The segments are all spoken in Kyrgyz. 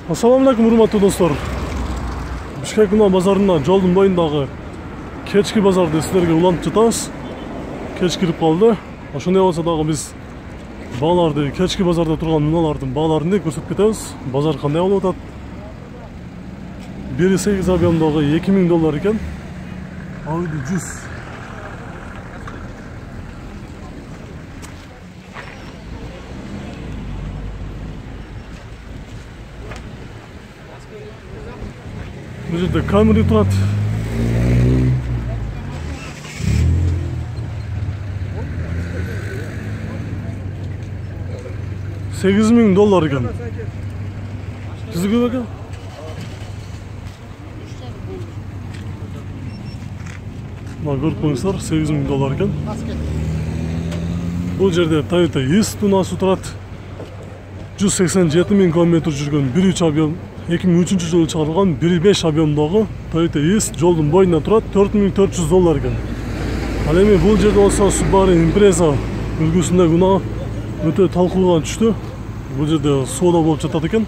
Ассаламу алейкум, урматтуу достор. Бишкек унаа базарына жолдун боюндагы кечки базарды силерге улантып жатабыз. Кеч кирип калды. Ошондой болсо дагы биз бааларды, кечки базарда турган унаалардын бааларын көрсөтүп кетебиз. Базар кандай болуп атат? 1,8 объемдогу $2000 экен. Audi 100. Bu жерде Camry турат. $8,000 экен. Сизге көп экен? Мына көрүп коюңуздар, $8,000 экен. Бул жерде Toyota East унаасы турат. 187,000 км жүргөн 1.3 объем 2003 жылы чыгарылган 1.5 объемдогу Toyota East жолдун боюнда турат, $4,400 экен. Ал эми бул жерде болсо Subaru Impreza үлгүсүндөгү унаа өтө талкууга түштү. Бул жерде соода болуп жатат экен.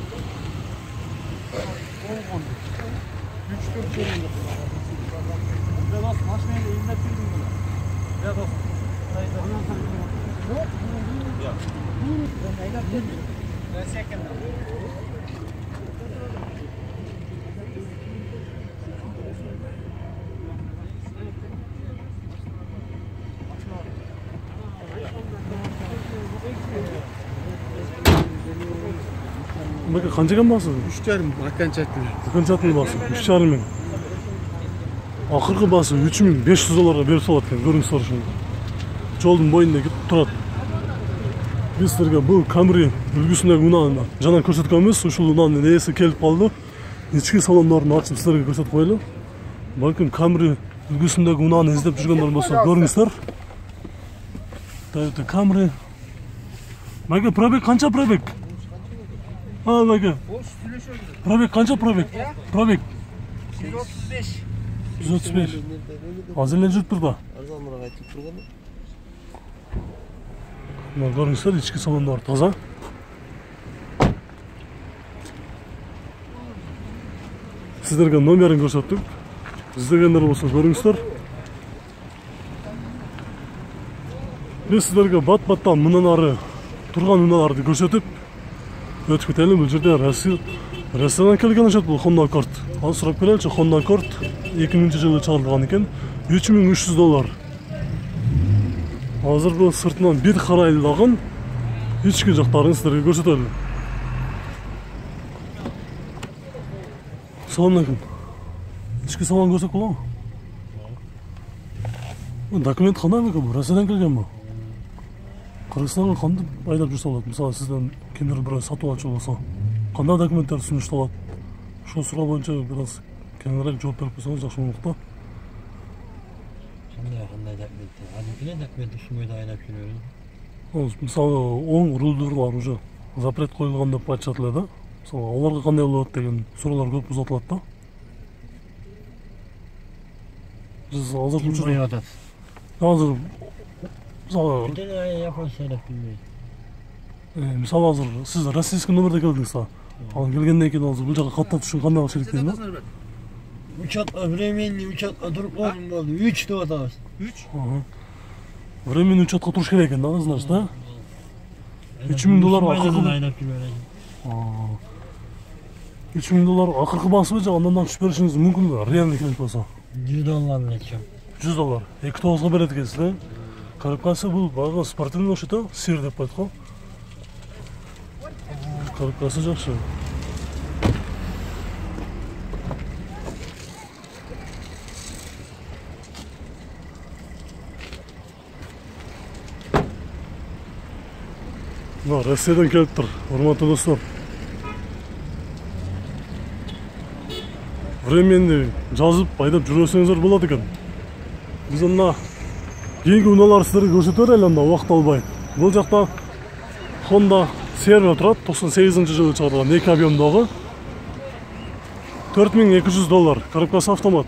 Бака канча экен басы? 3,5 окончательный. Окончательный басы 3,5 Акыркы басы $3,500 берип салат экен, көрүңүздөр ошону. Жолдун боюнда кетип турат. Биз силерге бул Camry үлгүсүндөгү унааны жана көрсөткөнбүз. Ушул унаанын ээси келип калды. Ички салондорун ачып силерге көрсөтүп коелу. Балким Camry үлгүсүндөгү унааны издеп жүргөндөр болсо көрүңүздөр. Toyota Camry. Мага пробег канча пробег? Мага. Пробег канча пробег? Пробег 135. 135. Азыр эле жүрүп турду. Арзаныраак айтып турган. Мына көрүңүздөр, ички салондор таза. Сиздерге номерин көрсөттүк. Издегендер болсо көрүңүздөр. Биз сиздерге бат-баттан мындан ары турган унааларды көрсөтүп өтүп кетели. Бул жерде ресторан келген окшойт, бул Honda Accord. Ал сурап көрөлүчү, Honda Accord 2000 жылы чыгарылган экен. $3,300. Азыр бул сыртынан бир карайлаган ички жактарын силерге көрсөтөлү. Салам алейкум. Ички салон көрсөк болобу? Документ кандай бекен? Россиядан келгенби? Кыргызстанга кантип айдап жүрсө болот? Мисалы сизден кимдир бирөө сатып алчу болсо, кандай документтер сунушталат? Ошол суроо боюнча бир аз кеңирээк жооп берип койсоңуз жакшы болмок да. Кандай документтер? Адилдене документ сунбайда айдап жүрөбүз. Мисалы оң рулдурлар уже запрет коюлган деп айтышат эле да. Мисалы аларга кандай болот деген суроолор көп узатылат да. Биз азыр Ким атат? Азыр мисалы японча айдап билбейт. Мисалы азыр сиз российский номерде келдиңиз да. Ал келгенден кийин азыр бул жака каттап түшүн кандай кылыш керек дейм да. Учетка временный учетка туруп калдым болду. 3 деп атабыз. 3? Временный учетка туруш керек экен да, значит, да? $3,000 акыркы айдап жүрөбүз. $3,000 акыркы басыбы же андан түшүп беришиңиз мүмкүнбү? Реальный керек болсо. $100 нече. $100. 2,9 берет экенсиз да? Карап калса бул баягы спортивный окшойт да, сир деп коет го. Карап калса жакшы. Мына Россиядан келиптир, урматтуу достор. Временный жазып айдап жүрөсөңүздөр болот экен. Биз мына кийинки унаалар сиздерге көрсөтө берели анда убакыт албай. Бул жакта Honda Servo турат, 98 жылы чыгарылган 2 объемдогу $4,200. Коробкасы автомат.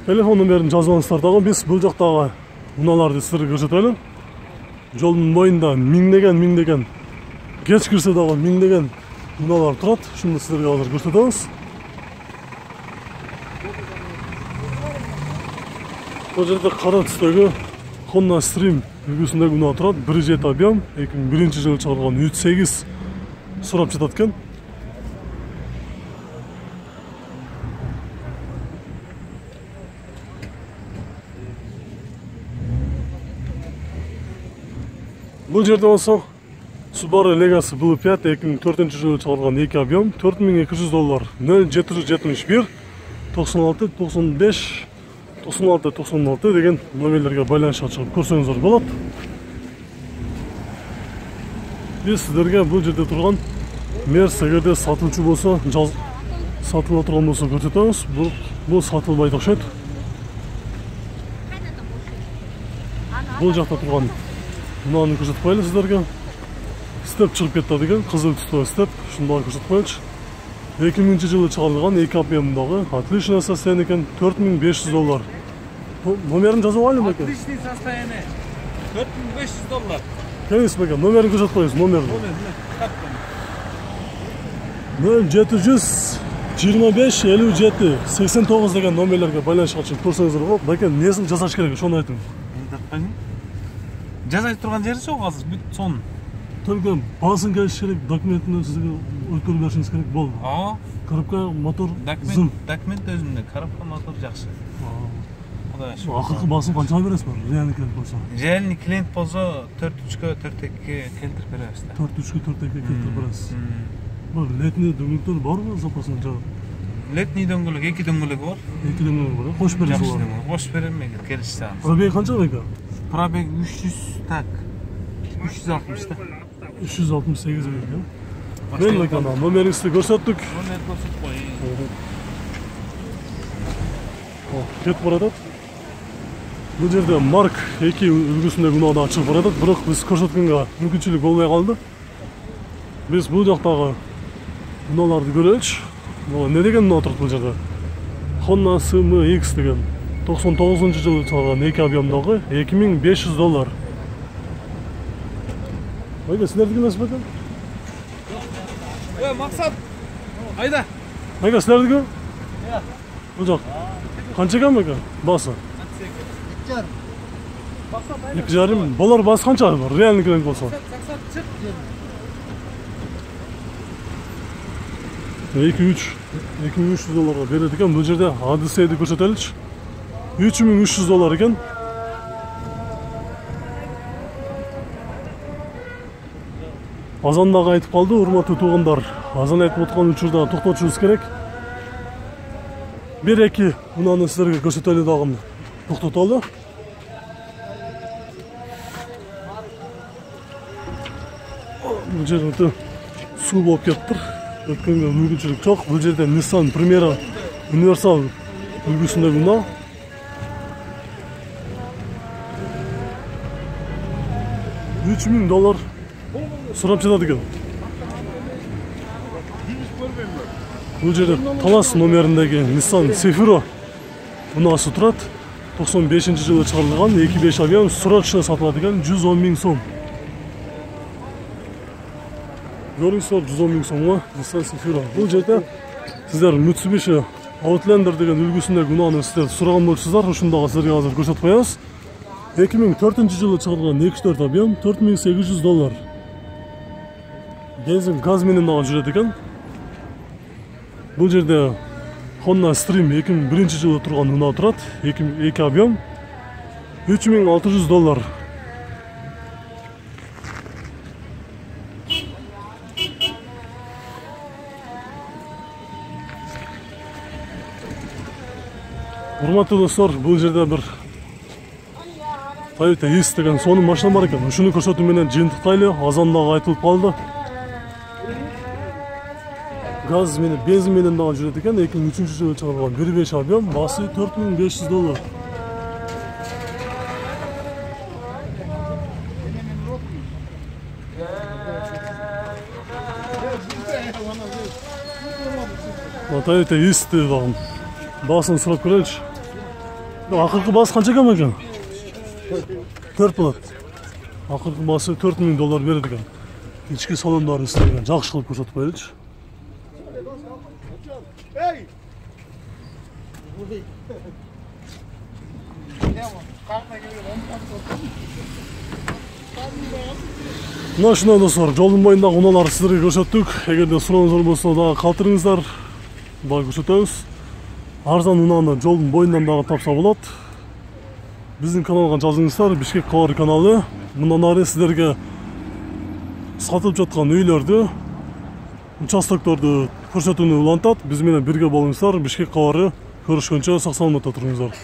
Телефон номерин жазып алыңыздар дагы, биз бул жактагы унааларды сиздерге көрсөтөлү. жолдун боюнда миңдеген кеч кирсе дагы миңдеген унаалар турат. Ушуну силерге азыр көрсөтөбүз. Бул жерде кара түстөгү Honda Stream үлгүсүндөгү унаа турат. 1.7 объем, 2001-жылы чыгарылган 3.8 сурап жатат экен. Бул жерде болсо Subaru Legacy Blue5 2004-жылы чыгарылган 2 объем, $4200, 0771 96 95 96 деген номерлерге байланышка чыгып көрсөңүздөр болот. Биз сиздерге бул жерде турган Mercedes эгерде сатылчу болсо, сатыла турган болсо көрсөтөбүз. Бул сатылбайт окшойт. Бул жакта турган мынаны көрсөтүп коелу сиздерге. Степ чыгып кетти деген, кызыл түстүү степ. Ушуну дагы көрсөтүп коелучу. 2000-жылы чыгарылган 2 объемдагы отличный состояние экен, $4500. Номерин жазып алып экен. Отличный состояние. $4500. Келиңиз бекен, номерин көрсөтүп коюңуз, номерин. 0725 57 89 деген номерлерге байланышка чыгып көрсөңүздөр болот. Бекен, эмнесин жасаш керек, ошону айтыңыз. Жазай турган жери жок азыр, бүт сон. Только басын келиш керек, документini сизге өткөрүп беришиңиз керек болду. Коробка, мотор, зым. Документ өзүндө, коробка, мотор жакшы. Кудай шүкүр. Акыркы басын канчага бересиз? Реальный клиент болсо. Реальный клиент болсо 4.3-кө 4.2-ге келтирип беребиз да. 4.3-кө 4.2-ге келтирип бересиз. Бул летний дөңгөлөктөр барбы запасында жагы? Летний дөңгөлөк, 2 дөңгөлөгү бар. 2 дөңгөлөк бар. Кош бересиз алар. Кош берем эгер келишсе. Пробег канча бека? Пробег 300 так. 360 да. 368 бека. Мен бека номериңизди көрсөттүк. Номер көрсөтүп коеюн. Кетип баратат. Бул жерде Mark 2 үлгүсүндөгү унаа да чыгып баратат, бирок биз көрсөткөнгө мүмкүнчүлүк болбой калды. Биз бул жактагы унааларды көрөлүчү. Не деген унаа турат бул жерде? Honda CMX деген 99-жылы чыгарган 2 объемдагы $2500. Айда, силердики эмес бекен? Максат. Айда. Айда, силердики? Бул жак. Канча экен бекен? Басы? 2,5. Болор басы канча бар? Реальный клиент болсо. $2300 берет экен. Бул жерде Odyssey'ди көрсөтөлүчү. $3300 экен. Азан дагы айтып калды, урматтуу туугандар. Азан айтып аткан учурда токтотушубуз керек. 1-2 унааны силерге көрсөтөлү дагы токтотолу. Бул жерде суу болуп кетиптир. Өткөнгө мүмкүнчүлүк жок. Бул жерде Nissan Primera универсал үлгүсүндөгү унаа. $3000 сурап жатат экен. Бул жерде Талас номериндеги Nissan Sefiro унаасы турат. 95-жылы чыгарылган 2.5 объем срочно сатылат экен, $110,000. Көрүңүздөр, $110,000 сомго Nissan Sefiro. Бул жерде сиздер Mitsubishi Outlander деген үлгүсүндөгү унааны сиздер сураган болчусуздар. Ушуну дагы силерге азыр көрсөтүп коебуз. 2004-жылы чыгарылган 2.4 объем $4800. Бензин газ менен дагы жүрөт экен. Бул жерде Honda Stream 2001-жылы турган унаа турат. 2 объем $3600. Урматтуу достор, бул жерде бир Toyota Yaris деген сонун машина бар экен. Ушуну көрсөтүү менен жыйынтыктайлы. Азан дагы айтылып калды. Газ менен, бензин менен дагы жүрөт экен. 2003-жылы чыгарылган 1.5 объем, басы $4500. Toyota Yaris дагы басын сурап көрөлүчү. Акыркы басы канча экен? 4 болот. Акыркы баасы $4000 берет экен. Ички салондары истелген, жакшы кылып көрсөтүп коелучу. Мына ушундай достор, жолдун боюндагы унааларды сиздерге көрсөттүк. Эгерде сурооңуздар болсо дагы калтырыңыздар. Дагы көрсөтөбүз. Арзан унааны жолдун боюндан дагы тапса болот. Биздин каналга жазыңыздар, Бишкек кабары каналы. Мындан ары сиздерге сатылып жаткан үйлөрдү, участокторду көрсөтүүнү улантат. Биз менен бирге болуңуздар. Бишкек кабары. Көрүшкөнчө сак саламатта туруңуздар.